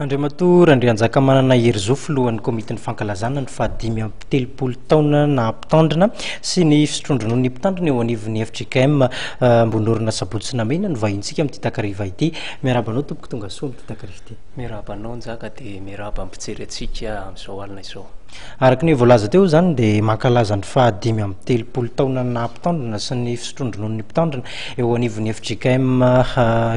Andriamatoa Randrianjakamanana Herizo, filohan'ny komitin'ny fankalazana ny fahadimy amby 30 taona naha mpitandrina sy ny fisotroan-dronon'ny mpitandrina eo anivon'ny fjkm Ambohinorina Sabotsy Namehina no vahintsika amin'ity takariva ity. Miarahaba anao tompoko tonga soa amin'ity takariva ity. Miarahaba anao Njaka dia miarahaba ny mpijery antsika amin'izao alina izao. Araka ny voalaza teo izany dia mankalaza ny faha 35 taona naha mpitandrina sy ny fisotroan-dronon'ny mpitandrina eo anivon'ny fjkm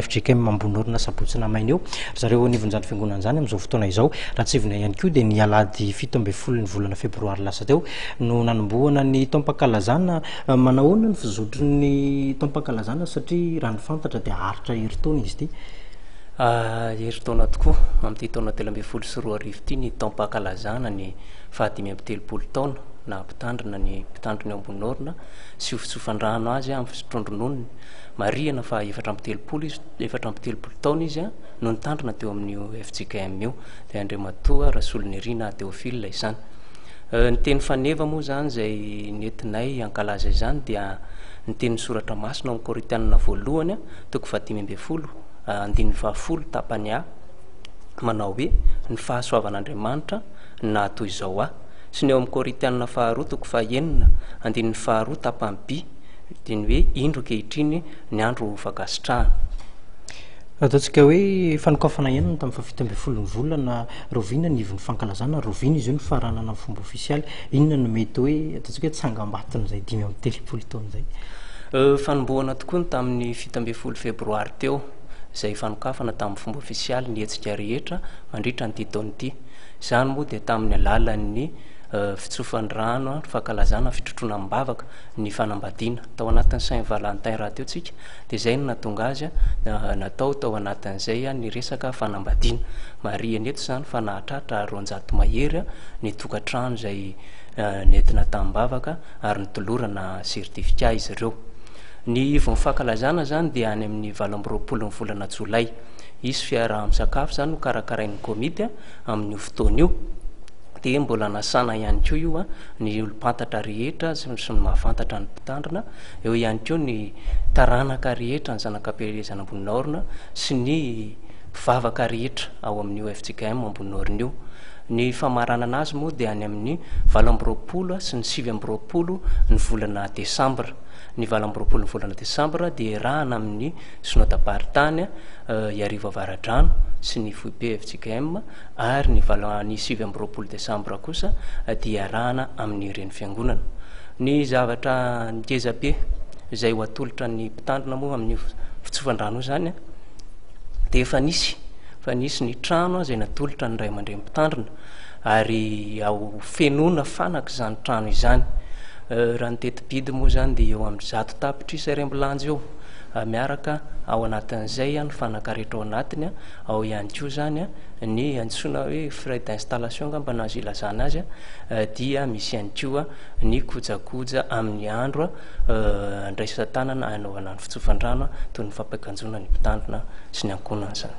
fjkm Ambohinorina Sabotsy Namaina eo ry zareo eo anivon'izany fiangonana izany amin'izao fotoana izao. Raha tsiahivina ihany koa dia ny alahady 17 ny volana febroary lasa teo no nanombohana ny taom-pankalazana. Manahoana ny fizotry ny taom-pankalazana satria raha ny fantatra dia haharitra herintaona izy ity? Herintaona tokoa, amin'ity taona 2013 ity ny taom-pankalazana ny faha 35 taona naha mpitandrina ny mpitandrina eo Ambohinorina sy ho fitsofan-drano azy amin'ny fisotroan-drononony. Marihana fa 34 izy, 34 taona izy no nitandrina teo amin'io fjkm io, dia Andriamatoa Rasolonirina Théophile izany. Ny teny faneva moa izany izay nentinay hankalaza izany dia ny tenin'ny soratra masina ao amin'ny Korintianina voalohany toko faha-15 andininy faha-10 tapany A manao hoe, Ny fahasoavan'Andriamanitra no nahatoy izao ahy. Sy ny ao amin'ny Korintianina faharoa toko faha-6 andininy faharoa tapany B dia ny hoe, Indro ankehitriny ny andro ho fankasitrahana. Ataontsika hoe fanokafana ihany ny tamin'ny faha-17 ny volana, rahoviana ny ivon'ny fankalazana, rahoviana izy io no faranana amin'ny fomba ofisialy, inona no mety hoe ataontsika hoe tsangambaton'izay 35 taona izay? Fanombohana tokoa ny tamin'ny 17 febroary teo, izay fanokafana tamin'ny fomba ofisialy ny hetsika rehetra mandritra an'ity taona ity. Izany moa dia tamin'ny alalan'ny fitsofan'ny rano, fankalazana, fitrotroana amim-bavaka ny fanambadiana. Tao anatin'ny Saint Valentin rahateo tsika dia izay no nahatonga azy natao tao anatin'izay ny resaka fanambadiana. Marihana eto izany fa nahatratra 200 mahery ny tokantrano izay nentina tamim-bavaka ary notolorana certificat izy ireo. Ny ivon'ny fankalazana izany dia any amin'ny 28 ny volana jolay. Hisy fiaraha-misakafo izany ho karakarain'ny komity amin'io fotoana io. Dia mbola nasana ihany koa io ny olom-pantatra rehetra sy ny mahafantatra ny mpitandrina. Eo ihany koa ny taranaka rehetra, ny zanak'Ampielezana Amboninaorina sy ny mpivavaka rehetra ao amin'io fjkm Amboninaorina io. Ny famaranana azy moa dia any amin'ny 28 sy ny 29 ny volana desambra. Ny 28 ny volana desambra dia iarahana amin'ny Synodam-paritany Iarivo Avaradrano sy ny foibe fjkm ary ny valo ny 29 desambra kosa dia iarahana amin'ny reny fiangonana. Ny zavatra ngeza be izay ho atolotra ny mpitandrina moa amin'io fitsofan-drano io izany dia efa nisy fa nisy ny trano izay natolotra ny ray aman-dreny mpitandrina ary ao fenoina fanaka izany trano izany. Raha ny teti-bidy moa izany dia eo amin'ny 100 tapitrisa iraimbilanja eo miaraka ao anatin'izay ny fanaka rehetra ao anatiny, ao ihany koa izany ny antsoina hoe frais d'installation angamba no azo ilazana azy, dia misy ihany koa ny kojakoja amin'ny andro andraisan-tanana hanaovana ny fitsofan-drano toy ny fampiakanjoana ny mpitandrina sy ny ankohonany izany.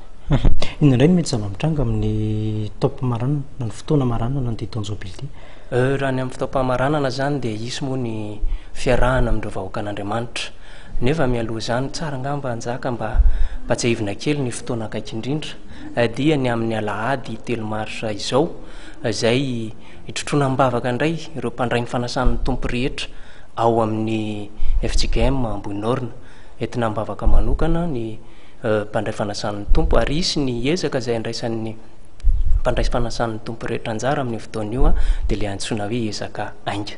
Inona indray no mety zava-mitranga amin'ny taom-pamaranana na ny fotoana amaranana an'ity taon-jobily ity? Raha ny amin'ny fotoam-pamaranana izany dia hisy moa ny fiarahana amin'ireo vahoakan'Andriamanitra. Nefa mialoha izany, tsara angamba Njaka mba ampatsiahivina kely ny fotoana akaiky indrindra dia ny amin'ny alahady 3 marsa izao izay hitrotroana am-bavaka indray ireo mpandray ny fanasan'ny Tompo rehetra ao amin'ny fjkm Ambohinorina. Entina am-bavaka manokana ny mpandray fanasan'ny Tompo ary hisy ny ezaka izay andraisan'ny mpandray fanasan'ny Tompo rehetra anjara amin'io fotoana io dia ilay antsoina hoe ezaka ainga.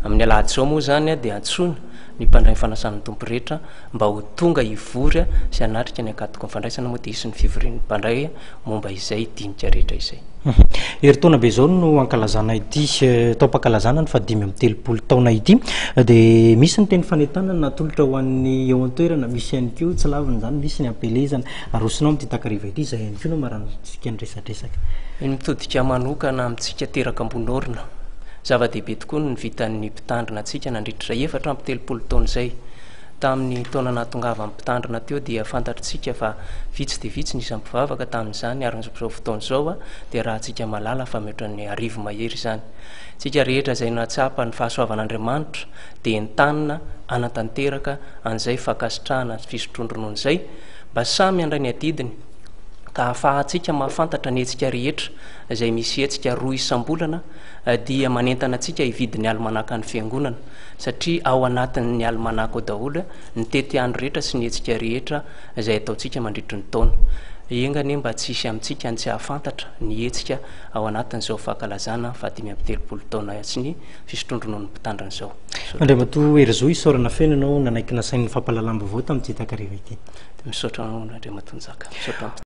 Amin'ny alahady izao moa izany dia antsoina ny mpandray ny fanasan'ny Tompo rehetra mba ho tonga hivory sy hanatrika ny ankatoky ny fandraisana moa dia hisy ny fivorian'ny mpandray momba izay dinika rehetra izay. Herintaona be izao no ankalazana ity taom-pankalazana ny faha-35 taona ity. Dia misy ny teny fanentanana natolotra ho an'ny eo an-toerana, misy ihany koa tsy lavina izany, misy ny ampielezana. Arosonao amin'ity takariva ity, izay ihany koa no amaranantsika ny resadresaka. Ny mitodika manokana amintsika teraka Ambohinorina. Zava-dehibe tokoa ny vitan'ny mpitandrina antsika nandritra izay 34 taona izay. Tamin'ny taona nahatongavan'ny mpitandrina teo dia fantatritsika fa vitsy dia vitsy ny isan'ny mpivavaka tamin'izany ary amin'izao fotoana izao dia rahantsika mahalala fa mihoatra ny 1000 mahery izany. Tsika rehetra izay nahatsapa ny fahasoavan'Andriamanitra dia entanina hanatanteraka an'izay fankasitrahana sy fisotroan-dronono izay mba samy handray ny adidiny. Ka ahafahantsika mahafantatra ny hetsika rehetra izay misy hetsika roa isam-bolana dia manentana antsika hividy ny alimanakan'ny Fiangonana satria ao anatin'ny alimanaka ao daholo ny tetiandro rehetra sy ny hetsika rehetra izay ataontsika mandritry ny taona. Enga anie mba tsy hisy amintsika ny tsy hahafantatra ny hetsika ao anatin'izao fankalazana fahadimy amby telopolo taona sy ny fisotroan-drononon'ny Mpitandrina izao. Misaotra. Andriamatoa Herizo, isaorana feno ianao nanaiky nasain'ny fampahalalam-baovao tamin'ity takariva ity. Misaotra anao Andriamatoa Njaka. Misaotra.